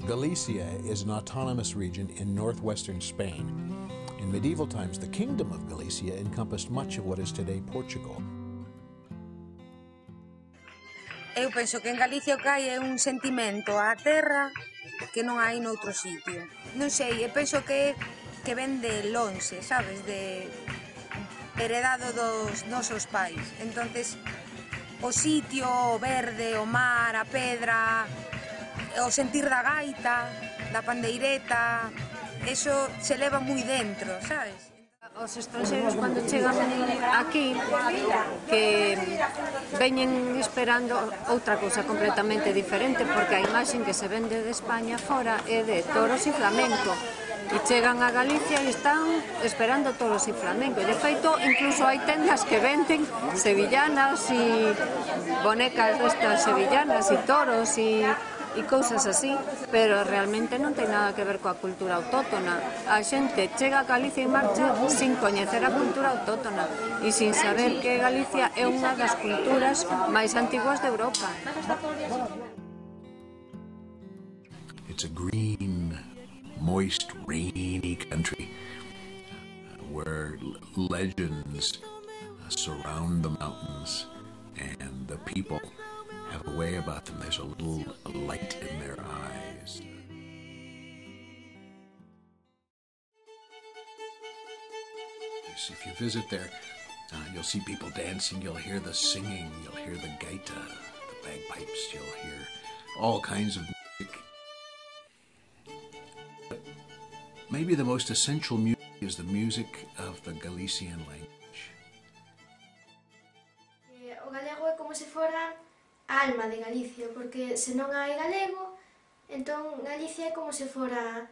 Galicia is an autonomous region in northwestern Spain. In medieval times, the Kingdom of Galicia encompassed much of what is today Portugal. Eu penso que en Galicia o que hai é un sentimento á terra que non hai noutro sitio. Non sei, eu penso que ven de lonxe, sabes, de heredado dos nosos pais. Entonces, o sitio, o verde, o mar, a pedra, o sentir da gaita, da pandeireta, eso se leva moi dentro, sabes? Os estranxeiros cando chegan aquí que veñen esperando outra cousa completamente diferente, porque a imaxe que se vende de España fora é de toros e flamenco, e chegan a Galicia e están esperando toros e flamenco, e de feito incluso hai tendas que venden sevillanas e bonecas destas sevillanas e toros e cousas así, pero realmente non ten nada que ver coa cultura autóctona. A xente chega a Galicia e marcha sin coñecer a cultura autóctona e sin saber que Galicia é unha das culturas máis antiguas de Europa. It's a green, moist, rainy country where legends surround the mountains and the people have a way about them. There's a little light in their eyes. If you visit there, you'll see people dancing, you'll hear the singing, you'll hear the gaita, the bagpipes, you'll hear all kinds of music. But maybe the most essential music is the music of the Galician language. O galego é como se fora a alma de Galicia, porque se non hai galego, entón Galicia é como se fora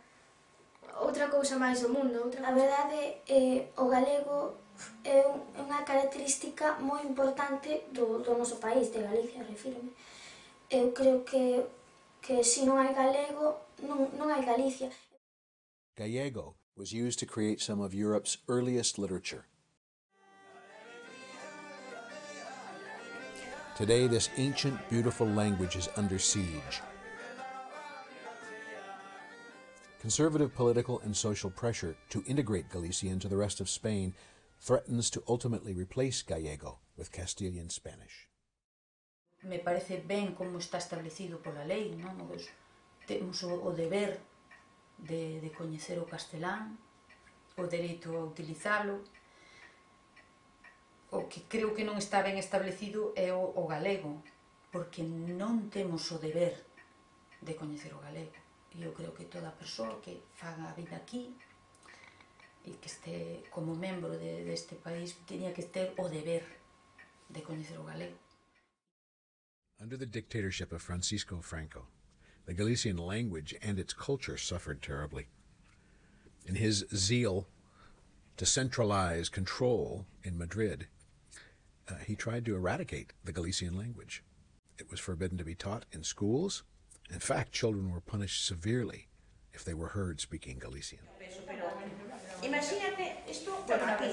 outra cousa máis do mundo. A verdade é o galego é unha característica moi importante do noso país, de Galicia, refírome. Eu creo que se non hai galego, non hai Galicia. Gallego was used to create some of Europe's earliest literature. Today, this ancient, beautiful language is under siege. Conservative political and social pressure to integrate Galicia into the rest of Spain threatens to ultimately replace Gallego with Castilian Spanish. Me parece ben como está establecido pola lei, non? Temos o deber de coñecer o castelán, o dereito a utilizalo. O que creo que non está ben establecido é o galego, porque non temos o deber de coñecer o galego. E eu creo que toda persoa que faga a vida aquí e que este como membro deste país teña que ter o deber de coñecer o galego. Under the dictatorship of Francisco Franco, the Galician language and its culture suffered terribly. In his zeal to centralize control in Madrid, he tried to eradicate the Galician language. It was forbidden to be taught in schools. In fact, children were punished severely if they were heard speaking Galician. Imagínate isto, bueno, aquí,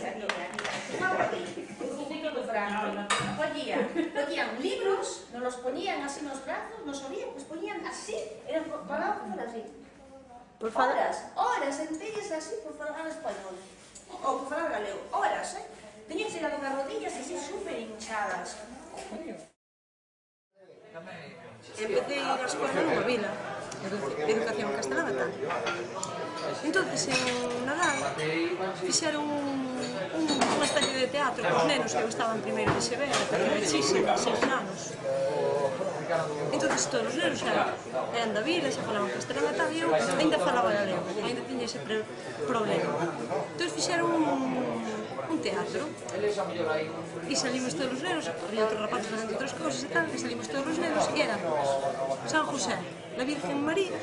un ciclo de Franco. Ponían libros, nos los ponían así nos brazos, nos oían, pues ponían así, eran parados por así. Horas enteras así por falar español. O por falar galego, horas, Tenían que ir a las rodillas así súper hinchadas. Empecé a ir a escola nunha vila de educación castelana. Entonces, en Nadal, fixeron unha especie de teatro cos nenos que eu estaba en primeiro de XB, pequenísimos, 6 anos. Entonces, todos os nenos eran da vila, xa falaban castelán e tal, e eu ainda falaba galego, ainda tiña ese problema. Entonces, fixeron un teatro e salimos todos os nenos, había outros rapaces facendo outras cousas e tal, e salimos todos os nenos e eran San José, la Virgen María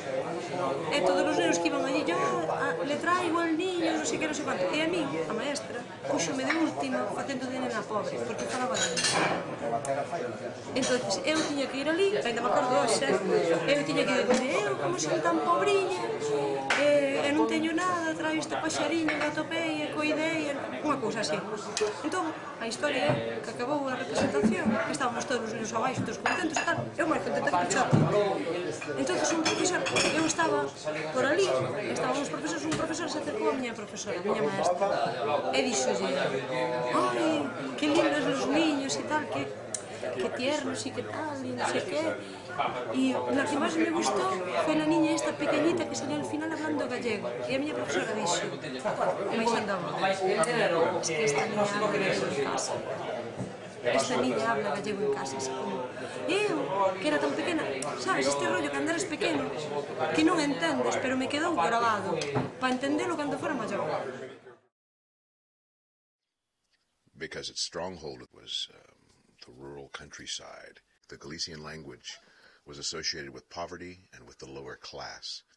e todos os nenos que iban allí, yo le traigo al niño, non sei que, non sei quanto, e a mí, a maestra, puxome de última facendo de nena pobre, porque falaba galego. Entonces, eu tiña que ir ali, ainda me acordo hoxe, eu tiña que ir, eu como son tan pobriña, e non teño nada, traio este paxariño que atopei e coidei, unha cousa así. Entón, a historia é que acabou a representación, que estábamos todos os niños abaixo, todos contentos e tal, eu máis contenta que o chato. Entón, un profesor, eu estaba por ali, estaban os profesores, un profesor se acercou a miña profesora, a miña maestra, e dixolle, ai, que lindos los niños e tal, que tiernos e que tal, e non sei que. E la que máis me gustou foi a niña esta pequeñita que salió al final hablando gallego. E a miña profesora dixo, baixando a voz, es que esta niña habla gallego en casa. Esta niña habla gallego en casa, así como... Eu, que era tan pequena, sabes, este rollo que andares pequeno, que non entendes, pero me quedou grabado, para entendelo cando fora maior. Because its stronghold was the rural countryside. The Galician language was associated with poverty and with the lower class.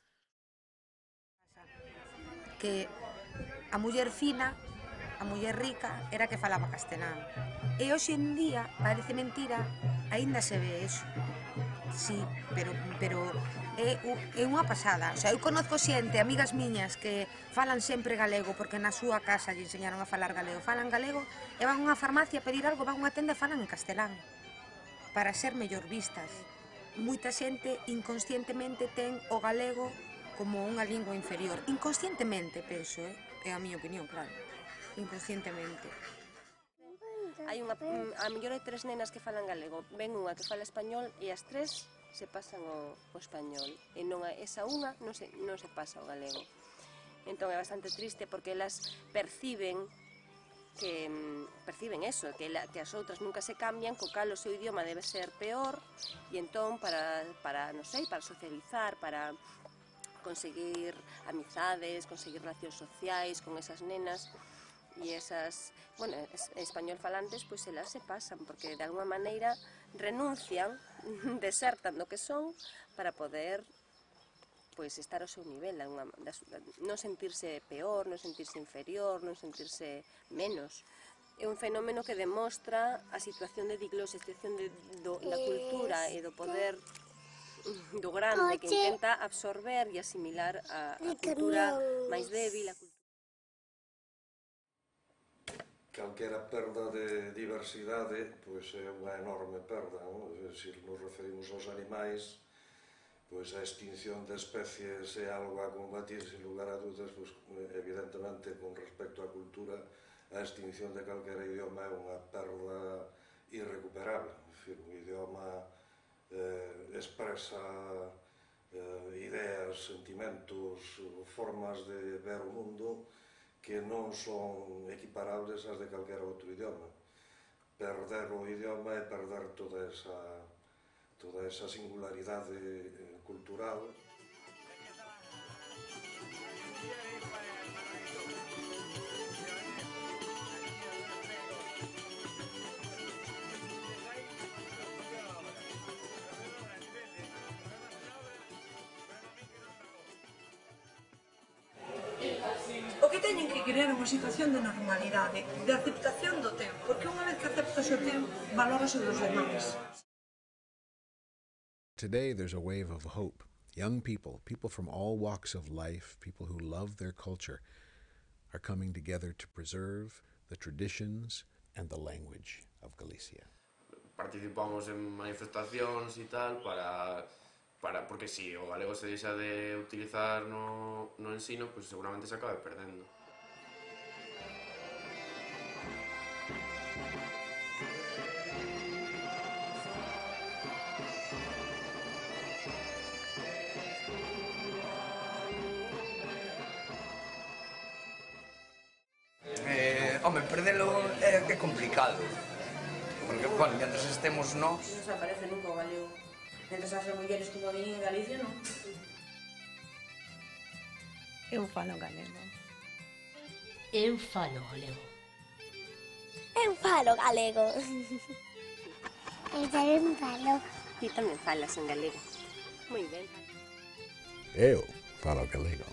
Que a muller fina, a muller rica, era que falaba castelán. E hoxe en día, parece mentira, aínda se ve eso. Sí, pero é unha pasada. O sea, eu conozco xente, amigas miñas, que falan sempre galego, porque na súa casa lle enseñaron a falar galego. Falan galego e van a unha farmacia a pedir algo, van a unha tenda e falan en castelán, para ser mellor vistas. Moita xente inconscientemente ten o galego como unha lingua inferior. Inconscientemente, penso, é a miña opinión, claro. Inconscientemente. Hai unha, a mellor hai 3 nenas que falan galego, ven unha que fala español e as 3 se pasan o español, e non esa unha non se pasa o galego. Entón é bastante triste porque elas perciben eso, que as outras nunca se cambian, co cal o seu idioma debe ser peor, e entón para non sei, para socializar, para conseguir amizades, conseguir relacións sociais con esas nenas e esas, bueno, español falantes, pois elas se pasan, porque de alguma maneira renuncian, desertan do que son para poder pois estar ao seu nivel, non sentirse peor, non sentirse inferior, non sentirse menos. É un fenómeno que demostra a situación de diglose, a situación da cultura e do poder do grande que intenta absorber e asimilar a cultura máis débil, a cultura. Calquera perda de diversidade pois é unha enorme perda, non? Se nos referimos aos animais, pois a extinción de especies é algo a combatir sin lugar a dúdas, pois evidentemente con respecto á cultura a extinción de calquera idioma é unha perda irrecuperable. Un idioma expresa ideas, sentimentos, formas de ver o mundo que non son equiparables ás de calquera outro idioma. Perder o idioma é perder toda esa singularidade cultural. O que teñen que crear unha situación de normalidade, de aceptación do teu, porque unha vez que aceptas o teu, valórase dos demais. Today there's a wave of hope. Young people from all walks of life, people who love their culture, are coming together to preserve the traditions and the language of Galicia. Participamos en manifestacións e tal porque si o galego se deixa de utilizar no ensino, pois seguramente se acabe perdendo. Home, perdelo é complicado, porque, bueno, mientras estemos nós... Non se aparece nunca o galego. Mientras as mulleres como veñen en Galicia, non? Eu falo galego. Eu falo galego. Eu falo galego. Eu tamén falo. E tamén falas en galego. Moi ben. Eu falo galego.